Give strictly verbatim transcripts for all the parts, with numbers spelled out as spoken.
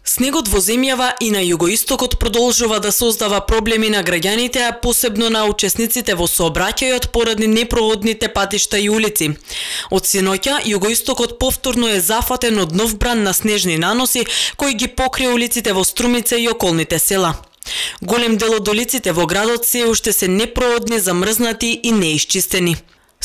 Снегот во земјава и на југоистокот продолжува да создава проблеми на граѓаните, а посебно на учесниците во сообраќајот поради непроходните патишта и улици. Од синоќа, југоистокот повторно е зафатен од нов бран на снежни наноси кои ги покри улиците во Струмица и околните села. Голем дел од улиците во градот се уште се непроходни, замрзнати и неисчистени.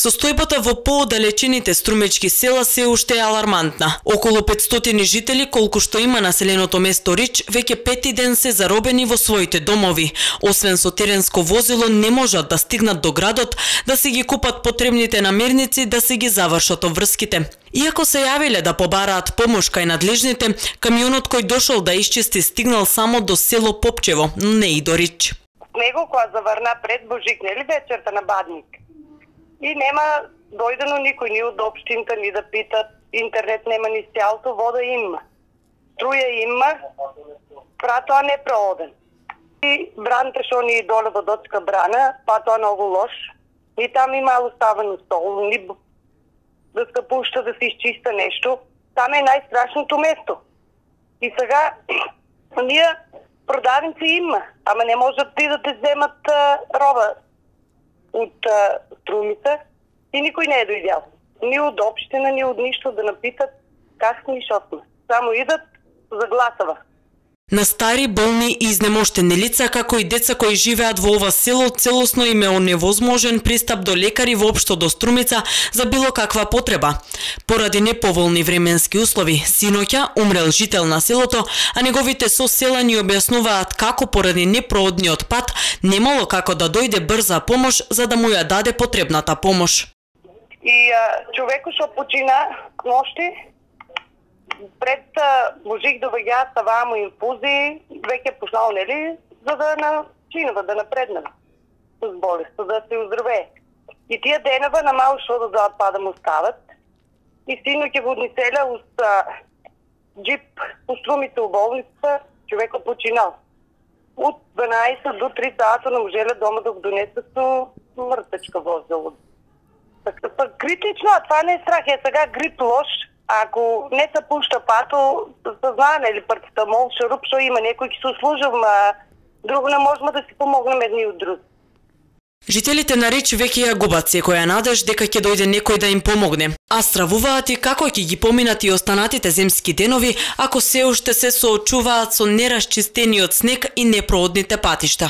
Состојбата во поодалечените струмечки села се уште е алармантна. Околу петстотини жители, колку што има населеното место Рич, веќе пети ден се заробени во своите домови. Освен со теренско возило не можат да стигнат до градот, да си ги купат потребните намирници, да си ги завршат обврските. Иако се јавиле да побараат помош кај надлежните, камионот кој дошол да исчисти стигнал само до село Попчево, но не и до Рич. Него која заврна пред Божик, нели вечерта на Бадник? И нема дојдено никој ни од општината ни да питат, интернет нема ни сјалто, вода има. Струја има, пратоа не прооден. И бранте шо ни доле во Доцка брана, патоа многу лош. И там има оставено стол, ни да ска пушта да се изчиста нешто. Там е најстрашното место. И сега, ние продавници има, ама не можат ти да те земат а, роба од Струмица и никој не е дојдел. Ни од општина, ни од ништо да напитат как сме и шо сме. Само идат за гласава. На стари, болни и изнемоштени лица, како и деца кои живеат во ова село, целосно им е оневозможен пристап до лекари воопшто до Струмица за било каква потреба. Поради неповолни временски услови, синоќа умрел жител на селото, а неговите соселани објаснуваат како поради непроодниот пат немало како да дојде брза помош за да му ја даде потребната помош. И а, човекот што почина ношти, пред Божик доаѓаат таваа му инфузии, веќе почнал, нели, за да начинува, да напреднува с болест, да се оздравее. И тие денева на мал шо да дадат па да му стават. И синоќа во Одниселја уз джип по Струмица у болница, човекот починал. Од дванаесет до три сата не можеле дома да го донесат со мртвечка возило. Така, па критично, а това не е страх, е сега грип лош. Ако не се пушта пато, знаеме или парцетамол, шуруп, што има некој ќе се услужам, а друго не можеме да си помогнеме едни од други. Жителите на Рич веќе ја губат секоја надеж дека ќе дојде некој да им помогне, а стравуваат и како ќе ги поминат и останатите земски денови ако се уште се соочуваат со нерасчистениот снег и непроодните патишта.